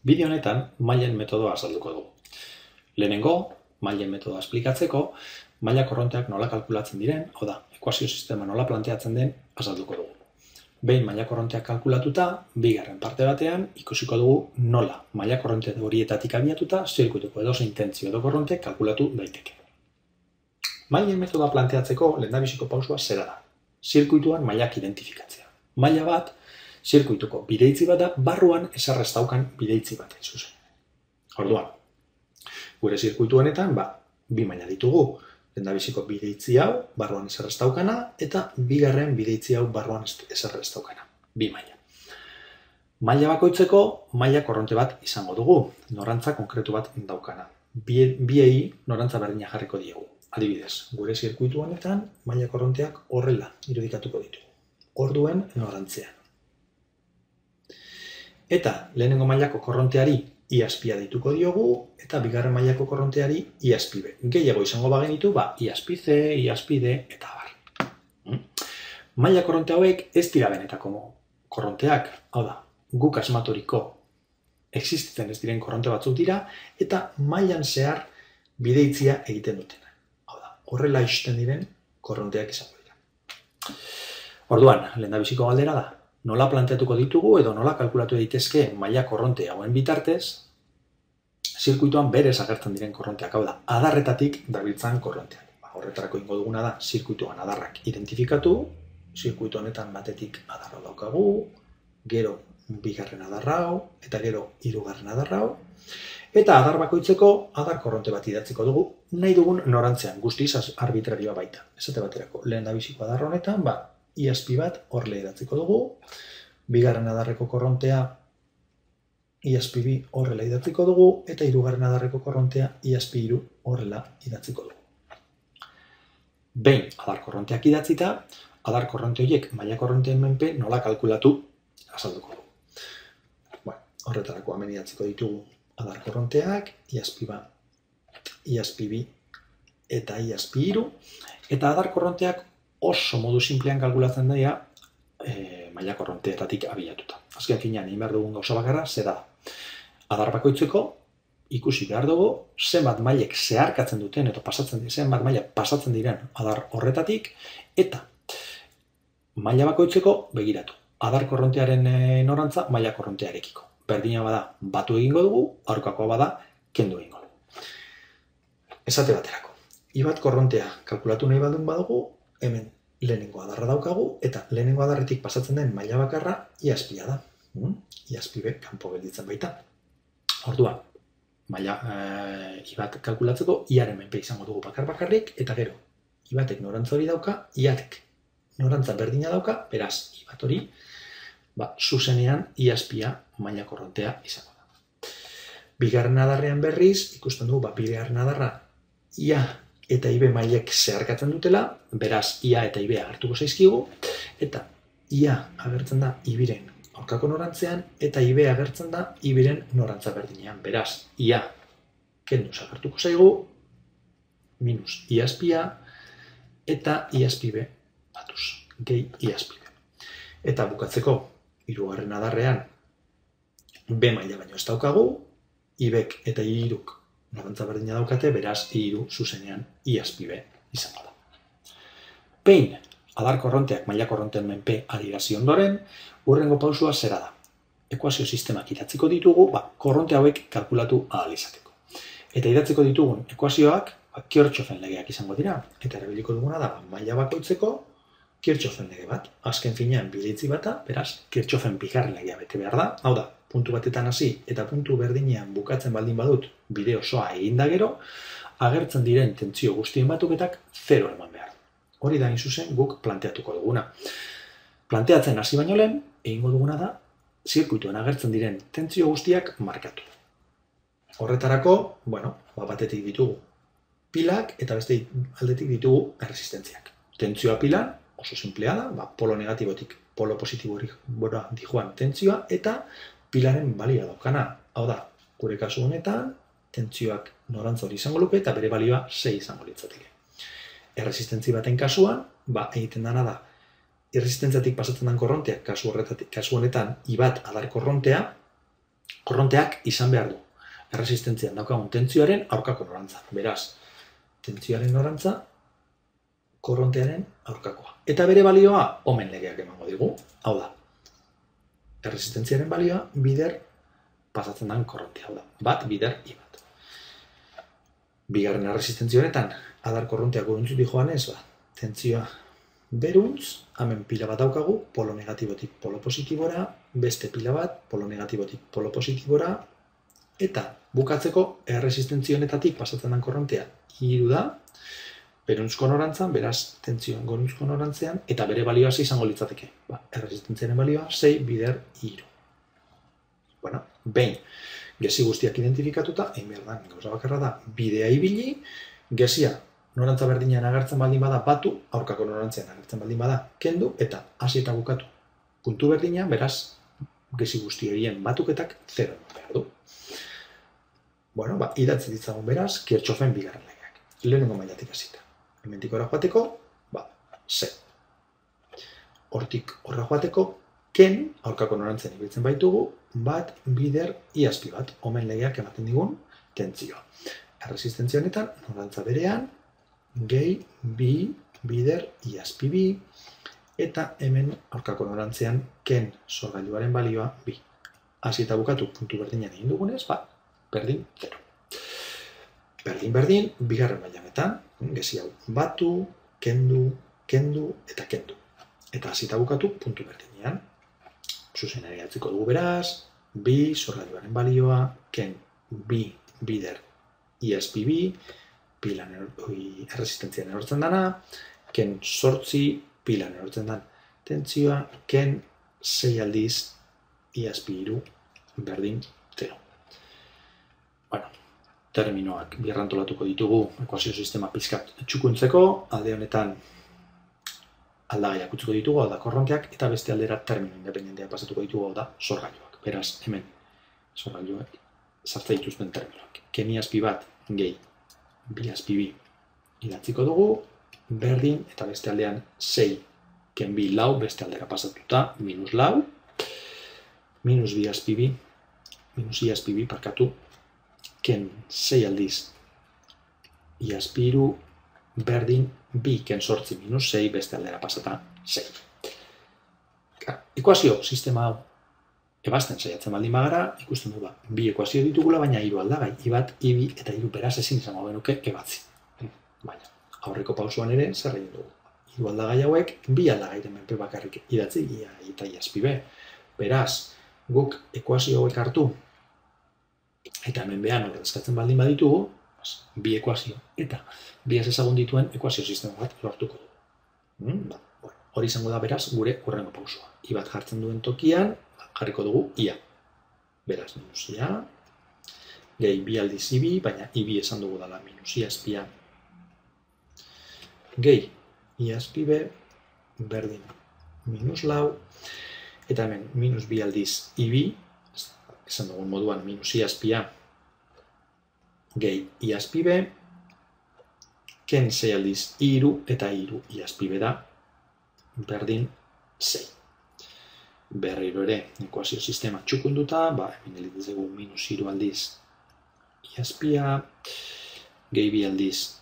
Bideo honetan mailen metodoa azalduko dugu. Lehenengo, mailen metodoa esplikatzeko, maila korronteak nola kalkulatzen diren, hau da, ekuazio sistema nola planteatzen den azalduko dugu. Behin maila korronteak kalkulatuta, bigarren parte batean ikusiko dugu nola maila korronte horietatik abiatuta zirkuituko edozein tentsio edo korronte kalkulatu daiteke. Mailen metodoa planteatzeko lehendabiziko pausua zera da. Zirkuituan mailak identifikatzea. Maila bat, zirkuituko bideitzi bat da, barruan ezarrez daukan bideitzi bat zuzen. Orduan, gure zirkuitu honetan, bi maila ditugu. Lehendabiziko bideitzi hau, barruan ezarrez daukana, eta bigarren bideitzi hau barruan ezarrez daukana. Bi maila. Maila bakoitzeko maila korronte bat izango dugu, norantza konkretu bat daukana. Biei norantza berdina jarriko diegu. Adibidez, gure zirkuitu honetan, maila korronteak horrela irudikatuko ditu. Orduen norantzean. Eta lehenengo mailako korronteari iazpia dituko diogu, eta bigarren mailako korronteari iazpi B. Gehiago izango bagenitu, iazpi C, iazpi D, eta bar. Maila korronte hauek ez dira benetako korronteak, hau da, guk asmaturiko existitzen ez diren korronte batzuk dira, eta mailan zehar bideitzia egiten dutena. Hau da, horrela ixten diren korronteak izango dira. Orduan, lehendabiziko galdera da, nola planteatuko ditugu edo nola kalkulatu daitezke maila korronte hauen bitartez, zirkuituan berez agertzen diren korronteak, hau da, adarretatik dabiltzan korronteak. Horretarako ingo duguna da, zirkuituan adarrak identifikatu, zirkuitu honetan batetik adarra daukagu, gero bigarren adarra hau, eta gero hirugarren adarra hau, eta adar bakoitzeko adar korronte bat idatziko dugu, nahi dugun norantzean, guztiz arbitrarioa baita. Esate baterako, lehendabiziko adar honetan, iazpi bat horrela idatziko dugu, bigarren adarreko korrontea iazpi bi horrela idatziko dugu, eta hirugarren adarreko korrontea iazpi hiru horrela idatziko dugu. Behin adar korronteak idatzita, adar korronte horiek maila korronteen menpe nola kalkulatu azalduko dugu. Horretarako hemen idatziko ditugu adar korronteak, iazpi bat, iazpi bi eta iazpi hiru, eta adar korronteak oso modu simplean kalkulatzen daia maila korronteetatik abiatuta. Azken finean, egin behar dugun gauza bakarra, zera da. Adar bakoitzeko ikusi behar dugu zenbat mailek zeharkatzen duten eta zenbat maila pasatzen diren adar horretatik, eta maila bakoitzeko begiratu. Adar korrontearen norantza maila korrontearekiko. Berdina bada batu egingo dugu, aurkakoa bada kendu egingo dugu. Esate baterako. Ibat korrontea kalkulatu nahi baldin badugu, hemen lehenengo adarra daukagu, eta lehenengo adarretik pasatzen den maila bakarra iazpia da. Iazpi B kanpo gelditzen baita. Orduan, maila ibat kalkulatzeko iaren menpe izango dugu bakarrik, eta gero, ibatek norantza hori dauka, iatek norantza berdina dauka, beraz, ibat hori, zuzenean iazpia maila korrontea izango da. Bigarren adarrean berriz, ikusten dugu, bigarren adarra ia eta IB mailek zeharkatzen dutela, beraz IA eta IB agertuko zaizkigu, eta IA agertzen da IBren aurkako norantzean, eta IB agertzen da IBren norantza berdinean. Beraz, IA kenduz agertuko zaigu, minus iazpia, eta iazpi B batuz, gehi iazpi B. Eta bukatzeko, hirugarren adarrean, B maila baino ez daukagu, IBek eta hiruk norantza berdina daukate, beraz, hiru zuzenean iazpi B izango da. Behin, adar korronteak maila korronteen menpe adierazi ondoren, hurrengo pausua zera da. Ekuazio sistemak idatziko ditugu, korronte hauek kalkulatu ahal izateko. Eta idatziko ditugun ekuazioak, Kirchhoffen legeak izango dira, eta erabiliko duguna da, maila bakoitzeko Kirchhoffen lege bat. Azken finean bideitzi bata, beraz, Kirchhoffen bigarren legea bete behar da, hau da, puntu batetan hasi eta puntu berdinean bukatzen baldin badut bide osoa eginda gero, agertzen diren tentsio guztien batuketak 0 eman behar. Hori da zuzen guk planteatuko duguna. Planteatzen hasi baino lehen, egingo duguna da, zirkuituen agertzen diren tentsio guztiak markatu. Horretarako, batetik ditugu pilak eta beste aldetik ditugu erresistentziak. Tentsioa pilan, oso simplea da, polo negatibotik polo positibori dijoan tentsioa, eta pilaren balioa daukana. Hau da, gure kasu honetan, tentsioak norantza hori izango luke eta bere balioa 6 izango litzateke. Erresistentzi baten kasuan, egiten dana da, erresistentziatik pasatzen den korronteak, kasu honetan, ibat adar korrontea, Korronteak izan behar du erresistentzian daukagun tentzioaren aurkako norantza. Beraz, tentzioaren norantza, korrontearen aurkakoa. Eta bere balioa, omen legeak emango digu. Hau da, erresistentziaren balioa, bider pasatzen den korrontea. Hau da, bat, bider, i bat. Bigarren erresistentzio honetan, adar korronteak goruntzutik joanez, tentzioa beruntz, hemen pila bat daukagu, polo negatibotik polo positibora, beste pila bat, polo negatibotik polo positibora, eta bukatzeko erresistentzio honetatik pasatzen den korrontea hiru da, beruntzko norantzan, beraz, tentzioan goruntzko norantzean, eta bere balioa izango litzateke. Erresistentziaren balioa 6 bider hiru. Bueno, behin, gezi guztiak identifikatuta, egin behar da, gauza bakarra da, bidea ibili, gezia norantza berdinean agertzen baldin bada batu, aurkako norantzean agertzen baldin bada kendu, eta hasi eta bukatu puntu berdinean, beraz, gezi guzti horien batuketak 0 behar du. Bueno, idatzi ditzagun beraz, Kirchhoffen bigarren legeak. Lehenengo mailatik hasita. Hementik horra joateko, ze. Hortik horra joateko, ken, aurkako norantzen ibiltzen baitugu, bat, bider, iazpi bat, omen legeak ematen digun tentzioa. Erresistentzia honetan, norantza berean, gehi, bi, bider, iazpi bi, eta hemen aurkako norantzean, ken sorgailuaren balioa bi. Hasi eta bukatu puntu berdinean egin dugunez, berdin, 0. Berdin, bigarren mailanetan, gezi hau batu, kendu, eta kendu. Eta hasi eta bukatu puntu berdinean. Zuzenari atziko dugu beraz, bi, sorgailuaren balioa, ken, bi, bider, iazpi bi, pilan erresistentzian erortzen dana, ken sortzi, pilan erortzen dan tentzioa, ken 6 aldiz, iazpi iru, berdin, 0. Bueno, terminoak birrantolatuko ditugu ekuazio sistema pizkat txukuntzeko, alde honetan aldagaiak utziko ditugu, hau da korronteak, eta beste aldera termino independenteak pasatuko ditugu, hau da sorgailuak. Beraz, hemen, sorgailuak sartza dituzten terminoak. Ken iazpi bat, gehi, bi azpi bi idatziko dugu, berdin, eta beste aldean 6, ken bi lau, beste aldera pasatuta, minus lau, minus bi azpi bi, minus i azpi bi, parkatu, ken 6 aldiz, i azpi iru, berdin, bi ken sortzi minus 6, beste aldera pasata 6. Ekuazio sistema hau ebazten saiatzen baldin bagara, ikusten du bi ekuazio ditugula, baina hiru aldagai, i bat, i bi eta hiru, beraz ezin izango genuke ebatzi. Baina, aurreko pausuan ere zer egin dugu. Hiru aldagai hauek, bi aldagairen menpe bakarrik idatzi, ia eta iazpi be. Beraz, guk ekuazio hauek hartu, eta hemen behan ordezkatzen baldin baditugu, bi ekuazio eta bi ez ezagun dituen ekuazio sistema bat lortuko dugu. Hori izango da beraz gure hurrengo pausua. I bat jartzen duen tokian, jarriko dugu ia. Beraz, minus ia, gehi bi aldiz ibi, baina ibi esan dugu dela minus iazpia. Gehi iazpi berdin minus lau, eta hemen minus bi aldiz ibi, esan dugun moduan minus iazpia, gehi iazpi be, ken 6 aldiz iru eta iru iazpi be da, berdin 6. Berriro ere, ekuazio sistema txukunduta, hemen elitzegu minus iru aldiz iazpia, gehi bi aldiz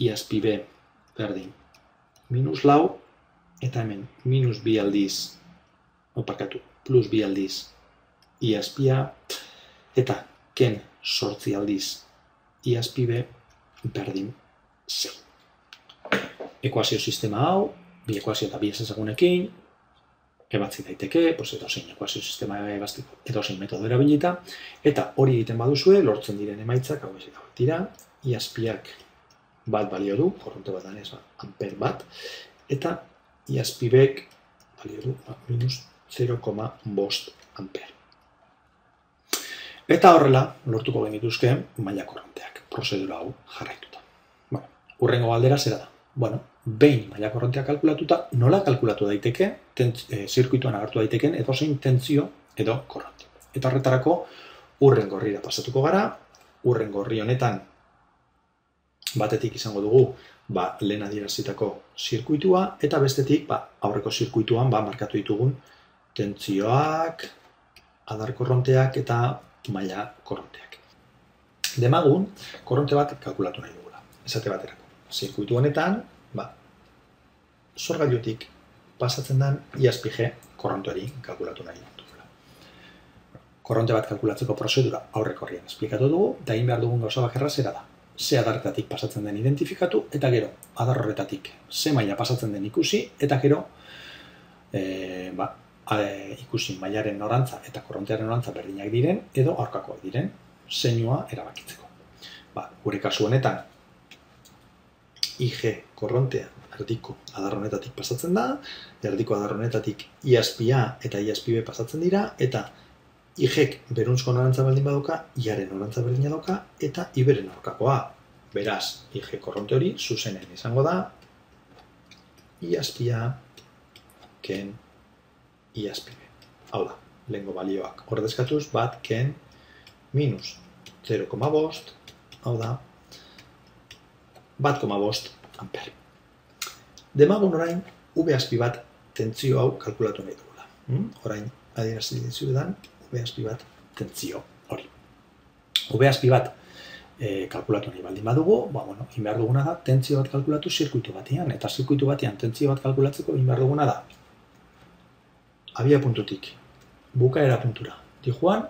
iazpi be, berdin minus lau, eta hemen minus bi aldiz, plus bi aldiz iazpia, eta ken sortzi aldiz iazpi be, berdin 6. Ekuazio sistema hau, bi ekuazio eta bi ezagunekin, ebatzi daiteke, edozein ekuazio sistema ebazteko edozein metodo erabilita, eta hori egiten baduzue, lortzen diren emaitzak, hau dira, iazpiak bat balio du, korronte bat danez, amper bat, eta iazpibek balio du minus 0,5 amper. Eta horrela, lortuko genituzke maila korronteak, prozedura hau jarraituta. Hurrengo galdera zera da. Behin maila korrontea kalkulatuta, nola kalkulatu daiteke, zirkuituan agertu daiteken edozein tentzio edo korronte. Eta horretarako, hurrengo horrira pasatuko gara, hurrengo horri honetan batetik izango dugu lehen adierazitako zirkuitua, eta bestetik aurreko zirkuituan markatu ditugun tentzioak, adar korronteak eta maila korronteak. Demagun, korronte bat kalkulatu nahi dugula, esate baterako. Zirkuitu honetan, sorgailutik pasatzen den IASPG korronteari kalkulatu nahi dugula. Korronte bat kalkulatzeko prozedura aurrekorrian esplikatu dugu, eta egin behar dugun gauza bakarra zera da. Ze adarretatik pasatzen den identifikatu, eta gero, adar horretatik ze maila pasatzen den ikusi, eta gero, ikusi mailaren norantza eta korrontearen norantza berdinak diren, edo aurkakoak diren, zeinua erabakitzeko. Gure kasu honetan, IG korrontea erdiko adar honetatik pasatzen da, erdiko adar honetatik IASPA eta IASPB pasatzen dira, eta IG-ek beruntzko norantza baldin badoka, IAren norantza berdina doka, eta IB-ren aurkakoa. Beraz, IG korronte hori zuzenen izango da, IASPA ken IASPB. Hau da, lehengo balioak ordezkatuz, bat ken minus 0,5, hau da, 1,5 amper. Demagun orain, V-azpi bat tentzio hau kalkulatu nahi dugula. Orain, adierazi dizuetan, V-azpi bat tentzio hori. V-azpi bat kalkulatu nahi baldin badugu, egin behar duguna da, tentzio bat kalkulatu zirkuitu batean, eta zirkuitu batean tentzio bat kalkulatzeko egin behar duguna da, abia puntutik, bukaera puntura, dijoan,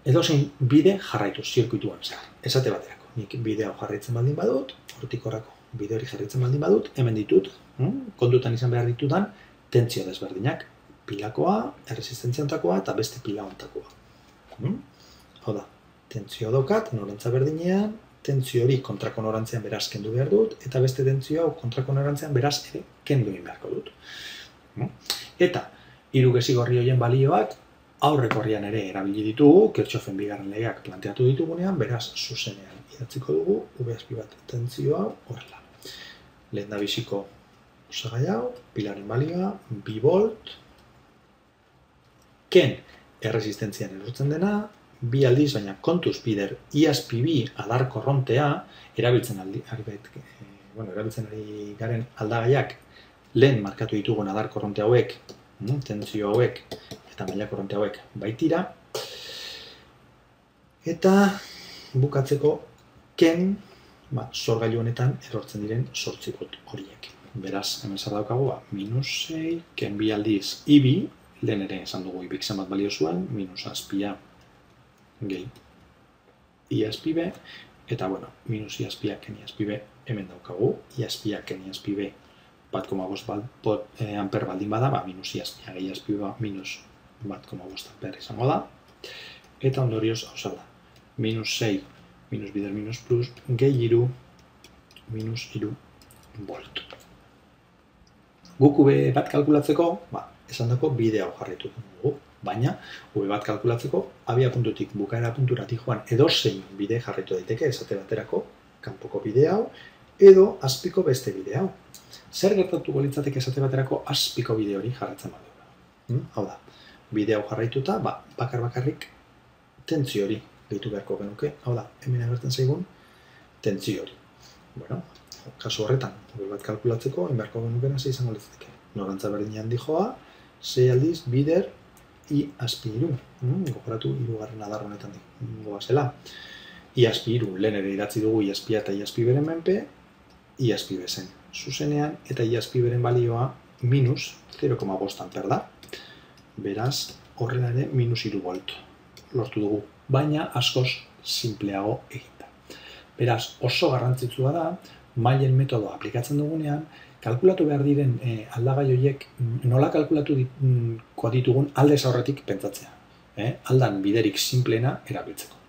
edozein bide jarraitu zirkuituan zehar. Esate baterako, nik bide hau jarraitzen baldin badut, hortik horako bide hori jarraitzen baldin badut, hemen ditut, kontutan izan behar ditudan, tentzio desberdinak, pilakoa, erresistentzia ontakoa eta beste pila ontakoa. Hau da, tentzio daukat, norantza berdinean, tentzio hori kontrako norantzean beraz kendu behar dut, eta beste tentzio hau kontrako norantzean beraz ere kendu egin beharko dut. Eta, hiru gezigorri horien balioak, aurrekorrian ere erabili ditugu, Kirchhoffen bigarren legeak planteatu ditugunean, beraz zuzenean idatziko dugu, V-azpi bat tentzio hau horrela. Lehen da biziko osagai hau, pilaren balioa, 2 volt, ken erresistentzian erortzen dena, 2 aldiz, baina kontuz bider IASPB adar korrontea, erabiltzen ari garen aldagaiak lehen markatu ditugun adar korronte hauek, tentzio hauek eta maila korronte hauek baitira. Eta bukatzeko ken sorgailu honetan erortzen diren 8 volt horiek. Beraz, hemen zer daukagu, minus 6, ken 2 aldiz IB, lehen ere esan dugu IBik zenbat balio zuen, minus azpia gehi IASPB, eta minus IASPA ken IASPB hemen daukagu, IASPA ken IASPB 1,5 amper baldin bada, minus IASPA gehi IASPB minus 1,5 amper izango da, eta ondorioz hau da, minus 6, minus bider minus plus, gehi 3, minus 3 volt. Guk V bat kalkulatzeko, esan dako bide hau jarraitu dugu, baina V bat kalkulatzeko abia puntutik bukaera punturatik joan edozein bide jarraitu daiteke, esate baterako, kanpoko bide hau, edo azpiko beste bide hau. Zer gertatuko litzateke esate baterako azpiko bide hori jarraitzen badu. Hau da, bide hau jarraituta, bakar-bakarrik tentzio hori gehitu beharko genuke, hau da, hemen agertzen zaigun tentzio hori. Kasu horretan, V bat kalkulatzeko, enbeharko genukena ze izango litzateke. Norantza berdinean dijoa, 6 aldiz bider IASPB. Gogoratu hirugarren adar honetan goazela. IASPB lehen ere idatzi dugu IASPA eta IASPB-ren menpe, IASPB zen zuzenean, eta IASPB-ren balioa minus 0,5 amper da. Beraz, horrela ere minus 3 volt lortu dugu, baina askoz simpleago eginda. Beraz, oso garrantzitsua da, mailen metodoa aplikatzen dugunean, kalkulatu behar diren aldagai horiek nola kalkulatuko ditugun aldez aurretik pentsatzea. Aldan biderik sinpleena erabiltzeko.